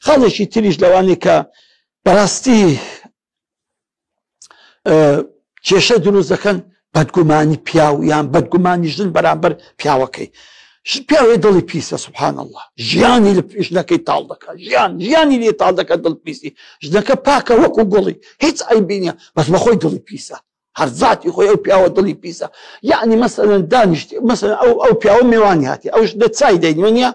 خاڵێکی تریش لەوانەی کە بەڕاستی کێشە دروست دەکەن بەدگومانی پیاو یان بەدگومانی ژن بەرامبەر پیاوەکەی. پیاوێ دڵی پیسە سبحان الله، ژیانی لە ژنەکەی تاڵ دەکات، ژیان ژیانی لێ تاڵ دەکات، دڵ پیسی. ژنەکە پاکە وەکو گوڵی، هیچ عەیبی نییە، بەس بەخۆی دڵی پیسە، هەر ذاتی خۆی ئەو پیاوە دڵی پیسە. یعنی مەسەلەن دانیشتی، مەسەلەن ئەو ئەو پیاوە مێوانی هاتی، ئەو ژنە چای دەینی نییە،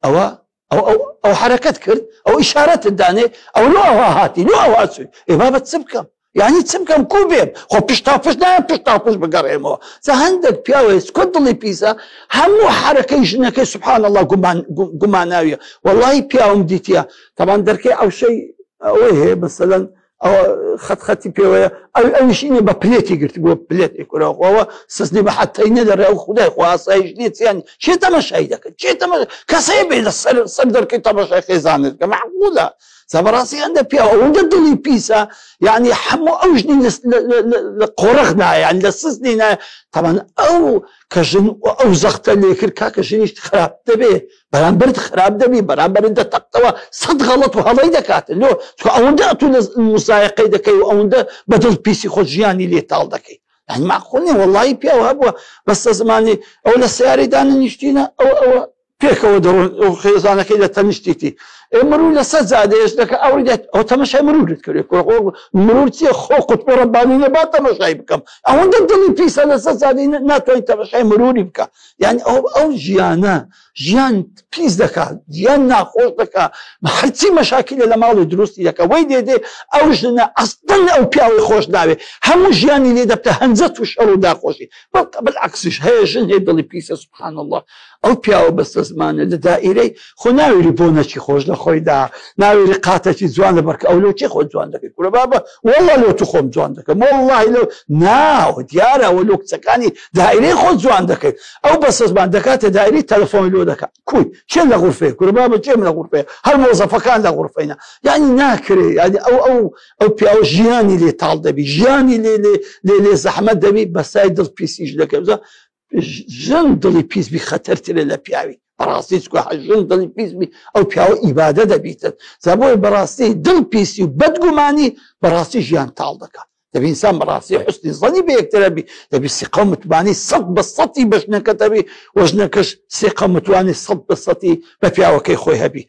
ئەوە ئەو ئەو ئەو حرەکەت کرد، ئەو ئیشارەتت دانێ، ئەو لۆ ئەوها هاتی، لۆ ئەوها چووی. ئێ بابە چ بکەم؟ یعنی چ بکەم؟ کو بێم؟ خۆ پشتا پشت نایەم، پشتا پشت بگەڕێمەوە. جا هەندێک پیاوە کۆ دڵی پیسە، هەموو حرەکەی ژنەکەی سبحان الله گومان گوماناویە. وەڵڵاهی پیاوم دیتیە، تەبان دەرکەی ئەوشەی ئەوەی هەیە، مەسەلەن ئەوە خەت خەتی پێوەیە، ئەو ئەویش ئینە بە پلێتی گرت بووە، پلێت ئێکورەوە سزنی بە حەتەی نەدەڕێ، ئەو خودای خۆ ئاسایش نییە، چیان چێ تەمەشای دەکەن، چێ تەمە کەسەیە بێ لە سەر سەر دەرکەی تەمەشای خێزانت کە معقولە. جا بەڕاستی هەندە پیاو ئەوەندە دڵی پیسە، یعنی هەموو ئەو ژنی لە قۆرخ نایە، یعنی لە سزنی نایە. تەبعەن ئەو کە ژن ئەو زەختە لێ کرد، کاکە ژنیش خراپ دەبێ، بەرامبەرت خراپ دەبی، بەرامبەرت دەتەقتەوە، سەد غەڵەت و هەڵەی دەکات. لۆ چونکە ئەوەندە ئەتوو لە مسایەقەی دەکەی و ئەوەندە بە دڵ پیسی خۆت ژیانی لێ تاڵ دەکەی. یعنی معقول نییە. وەڵڵاهی پیاو هەبووە بەستە زمانی ئەو لە سەیارەی دانەنیشتینە، ئەو ئەوە پێکەوە دەڕۆن، ئەو خێزانەکەی لە تەنیشتیتی، ئێ مرور لەسەر جادەیەش دەکە ئەوەی دێت، ئەو تەمەشای مرورت کرد. کوڕە خۆ مرور چییە؟ خۆ قوتبی ڕەبانی نییە با تەمەشای بکەم. ئەوەندە دڵی پیسە لەسەر جادەی ناتوانین تەمەشای مروری بکە. یعنی ئەو ئەو ژیانە ژیان پیس دەکات، ژیان ناخۆش دەکات، هەرچی مەشاکیلە لە ماڵی دروستی دەکات. وەی دێ دێ ئەو ژنە ئەستن ئەو پیاوەی خۆش ناوێ، هەموو ژیانی لێ دەبتە هەنجەت و شەڕ و داخۆشی. بالعکسیش هەیە ژن هەیە دڵی پیسە سبحان الله، ئەو پیاوە بەستە زمانە لە دائیرەی خۆ ناوێری بۆنەکی خۆش لە خۆیدا، ناوێری قاتەکی جوان لە بەرکە، ئەو لۆ چی خۆ جوان دەکەی؟ کورە بابە والله لۆ تو خۆم جوان دەکەم، واللهی لۆ ناو دیارە ئەوە لۆ کچەکانی دائیرەی خۆ جوان دەکەی. ئەو بەستە زمان دەکاتە دائیرەی تەلەفۆن لۆ دەکات، کوی کێ لە غورفەیە؟ کورە بابە کێم لە غورفەیە؟ هەر مۆزەفەکان لە غورفەینە. یعنی ناکرێ، یعنی ئەو ئەو ئەو پیاوە ژیانی لێ تاڵ دەبی، ژیانی لێ لێ لێ لێ زەحمەت دەبی، بەسای دڵ پیسیش دەکەی. ژن دڵی پیس بی خەتەرترە لە پیاوی بەڕاستی، چکە ژن دڵی پیس بی ئەو پیاوە ئیبادە دەبیتن. جا بۆیە بەڕاستی دڵ پیسی و بەدگومانی بەڕاستی ژیان تاڵ دەکات. دەبی ئینسان بەڕاستی حوسنی زەنی بە یەکترە بی، دەبی سیقە و متمانەی 100% بە ژنەکە دەبی و ژنەکەش سیقە و متمانەی 100% بە پیاوەکەی خۆی هەبی.